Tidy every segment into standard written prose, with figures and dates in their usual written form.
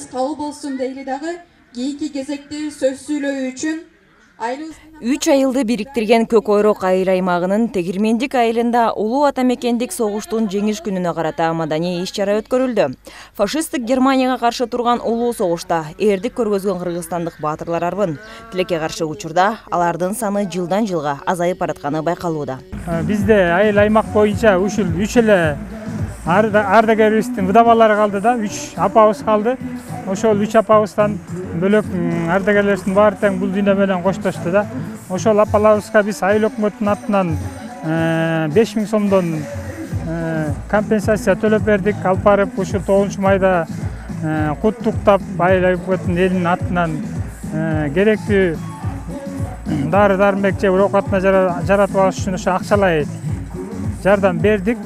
баарыбыз кабыл болсун дейли дагы кийинки кезекте сөз сүйлөө үчүн 3 айылды бириктирген Көк Ойрок айыл аймагынын Тегирмендик айылында улуу атамекендик согуштун жеңиш күнүнө карата маданий иш-чара өткөрүлдү. Фашисттик Германияга каршы турган улуу согушта эрдик көргөзгөн кыргызстандык баатырлар арбын. Тилекке каршы учурда алардын саны жылдан жылга азайып баратканы байкалууда. Бизде айыл аймак боюнча ушул 3 эле ардагерибиздин выдавалары калды да, 3 апабыз калды. Ошол 3 апабыздан бөлөк ардагерлерибиздин баары тең бул дүйнө менен коштошту да. Ошол апаларыбызга биз айыл өкмөтүнүн атынан 5000 сомдон компенсация төлөп бердик. Алып барып ушул 9-майда куттуктап айыл өкмөтүнүн элинин атынан керектүү дары-дармек же оокатына жаратып алыш үчүн ошо акчалай жардам бердик.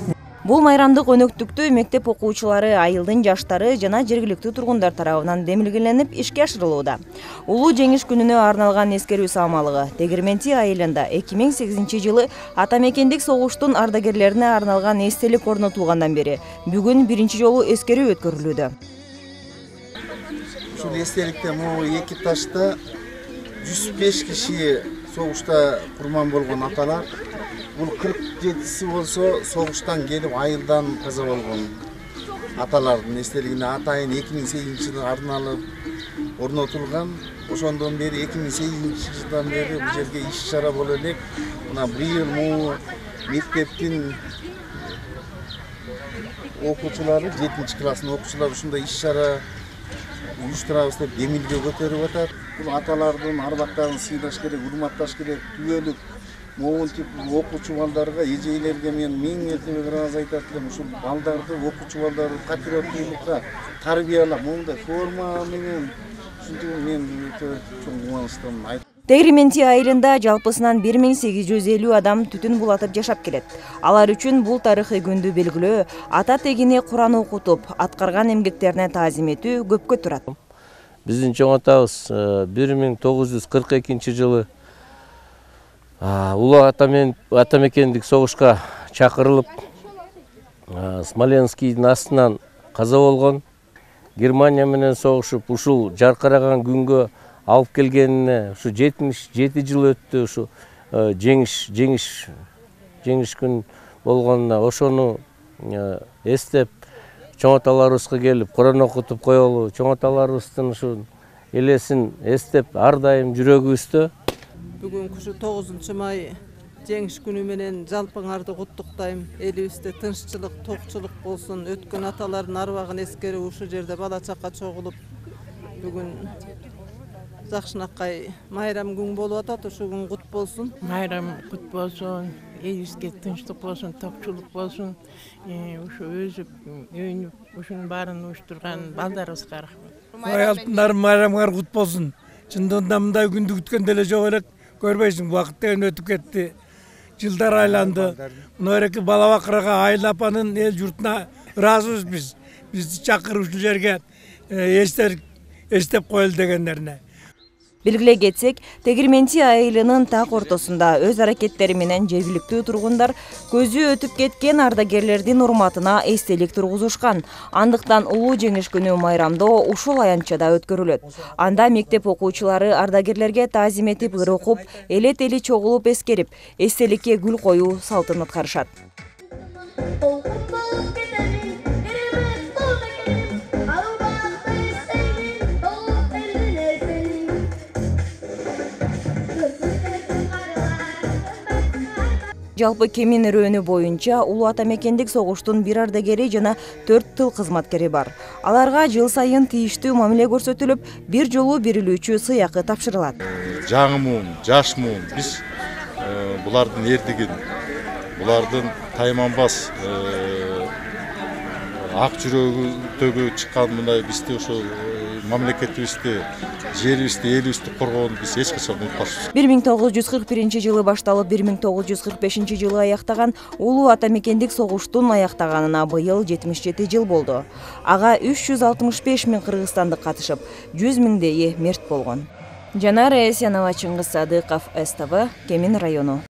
Бул майрамдык өнөктүктү мектеп окуучулары, айылдын жаштары жана жергиликтүү тургундар тарабынан демилгеленип ишке ашырылууда. Улуу жеңиш күнүнө арналган эскерүү самалыгы Тегирменти айылында 2008 жылы атамекендик согуштун ардагерлерине арналган эстелик орнотулгандан бери бүгүн биринчи жолу эскерүү өткөрүлүүдө. Ушул эстеликте могу эки ташта 105 киши согушта курман болгон аталар. Бул 47-си болсо согуштан келип айылдан каза болгон аталардын эстелигине атайын 2008 жылы арналып орнотулган. Ошондон бери 2008 жылдан бери бул жерге иш-чара боло элек. Мына быйыл могу мектептин окуучулары, 7-класстын окуучулары ушундай иш-чара уюштурабыз деп демилге көтөрүп атат. Бул аталардын арбактарын сыйлаш керек, урматташ керек, түбөлүк могул тип окуучу балдарга, эжейлерге мен миң мертебе раз айтат элем, ушул балдарды, окуучу балдарды патриоттуулукка тарбиялап, мондай форма менен ушинтип мен өтө чоң кубанычтамын. Тегирменти айылында жалпысынан 1850 адам түтүн булатып жашап келет. Алар үчүн бул тарыхый күндү белгилөө, ата тегине Куран окутуп, аткарган эмгектерине таазим этүү көпкө турат. Биздин чоң атабыз 1942 жылы улуу атамекендик согушка чакырылып, Смоленскийдин астынан каза болгон. Германия менен согушуп, ушул жаркыраган күнгө алып келгенине ушу 77 жыл өттү. Ушу жеңиш күн болгонуна ошону эстеп, чоң аталарыбызга келип Куран окутуп коелу, чоң аталарыбыздын ушу элесин эстеп ар дайым жүрөгүбүздө. Бүгүнкү ушу 9-май жеңиш күнү менен жалпыңарды куттуктайм. Элибизде тынччылык, токчулук болсун. Өткөн аталардын арбагын эскерип ушул жерде бала чака чогулуп бүгүн жакшынакай майрам күн болуп атат. Ушул күн кут болсун. Майрам кут болсун. Элибизге тынчтык болсун, токчулук болсун. Ушу өзүп, өйнүп, ушунун баарын уюштурган балдарыбызга рахмат. Алтындарым майрамыңар кут болсун. Чындыгында мындай күндү күткөн деле жок элек. Көрбөйсүң, убакыт деген өтүп кетти. Жылдар айланды. Мынабеки бала бакырага айыл апанын эл журтуна ыраазыбыз биз. Бизди чакырып ушул жерге эстеп коелу дегендерине. Белгилей кетсек, Тегирменти айылынын так ортосунда өз аракеттери менен жергиликтүү тургундар көзү өтүп кеткен ардагерлердин урматына эстелик тургузушкан. Андыктан улуу жеңиш күнү майрамдоо ушул аянтчада өткөрүлөт. Анда мектеп окуучулары ардагерлерге таазим этип, ыр окуп, эле-тели чогулуп эскерип, эстеликке гүл коюу салтын аткарышат. Жалпы Кемин району боюнча улуу атамекендик согуштун 1 ардагери жана 4 тыл кызматкери бар. Аларга жыл сайын тийиштүү мамиле көрсөтүлүп, бир жолу берилүүчү сыйакы тапшырылат. Жаңы жаш муун биз булардын эрдигин, булардын тайманбас ак жүрөгү чыккан мындай бизди ошо мамлекетибизди, жерибизди, элибизди коргоонду биз эч качан унутпашпыз. 1941 жылы башталып 1945 жылы аяктаган улуу атамекендик согуштун аяктаганына быйыл 77 жыл болду. Ага 365 миң кыргызстандык катышып, 100 миңдейи мерт болгон. Жанара Эсянова, Чыңгыз Садыков, СТВ, Кемин району.